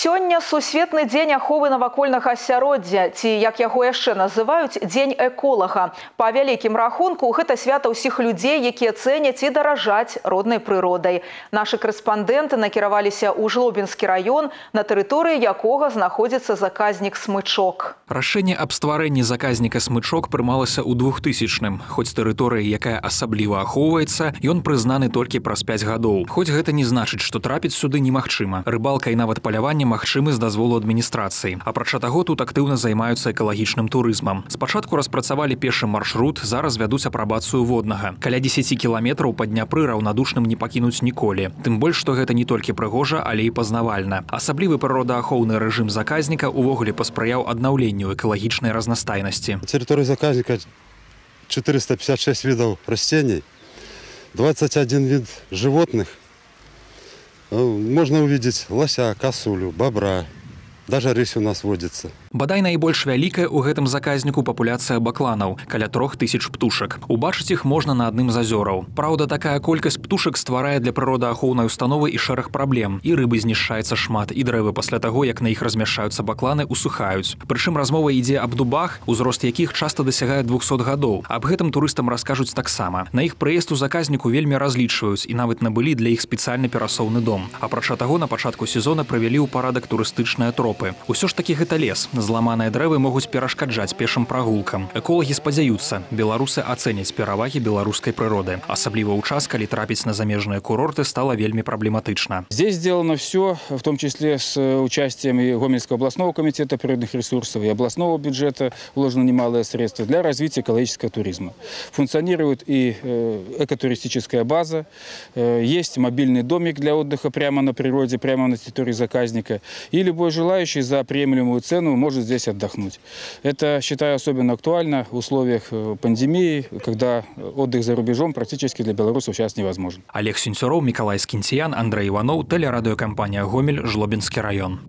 Сёння сусветны дзень аховы навакольнага асяроддзя, ці, як яго яшчэ называюць, дзень эколага. Па вялікім рахунку, гэта свята ўсіх людзей, якія цэняць і даражаць роднай прыродай. Нашы корэспандэнты накіраваліся ў Жлобінскі раён, на тэрыторыі якога знаходзіцца заказнік Смычок. Рашэнне аб стварэнні заказніка Смычок прымалася ў 2000-м. Хоць тэрыторыя, якая асабліва ахоўваецца, ён прызнаны толькі праз 5 гадоў. Хоць гэта не значыць, што трапіць сюды немагчыма. Рыбалка і нават паляванне магчымы з дазволу адміністрацыі. Апрача таго, тут актыўна займаюцца экалагічным турызмам. Спачатку распрацавалі пешы маршрут, зараз вядуць апрабацыю воднага. Каля 10 кіламетраў па Дняпры раўнадушным не пакінуць ніколі. Тым больш, што гэта не толькі прыгожа, але і пазнавальна. Асаблівы прыродаахоўны рэжым заказніка ўвогуле паспрыяў аднаўленню экалагічнай разнастайнасці. Территория заказника 456 видов растений, 21 вид животных. Можно увидеть лося, косулю, бобра. Даже рысь у нас водится. Бадай найбольш вялікая ў гэтым заказніку папуляцыя бакланаў, каля 3000 птушак. Убачыць іх можна на адным з азёраў. Праўда, такая колькасць птушак стварае для прыродаахоўнай установы і шэраг праблем. І рыбы знішчаецца шмат, і дрэвы пасля таго, як на іх размяшчаюцца бакланы, усухаюць. Прычым размова ідзе аб дубах, узрост якіх часта дасягае 200 гадоў. Аб гэтым турыстам раскажуць таксама. На іх прыезд у заказніку вельмі разлічваюць і нават набылі для іх спецыяльны перасоўны дом. Апрача таго, на пачатку сезона прывялі ў парадак турыстычныя тропы. Усё ж такі гэта лес. Зламаныя дрэвы могуць перашкаджаць пешым прагулкам. Эколагі спадзяюцца, беларусы ацэняць перавагі беларускай прыроды. Асабліва ў час, калі трапіць на замежныя курорты стала вельмі праблематычна. Здесь сделано все, в том числе с участием и Гомельского областного комитета природных ресурсов, и областного бюджета вложено немалые средства для развития экологического туризма. Функционирует и экотуристическая база, есть мобильный домик для отдыха прямо на природе, прямо на территории заказника, и любой желающий за приемлемую цену может здесь отдохнуть. Это, считаю, особенно актуально в условиях пандемии, когда отдых за рубежом практически для белорусов сейчас невозможен. Олег Сюнцюроў, Миколай Скінціян, Андрей Иванов, телерадиокомпания «Гомель», Жлобинский район.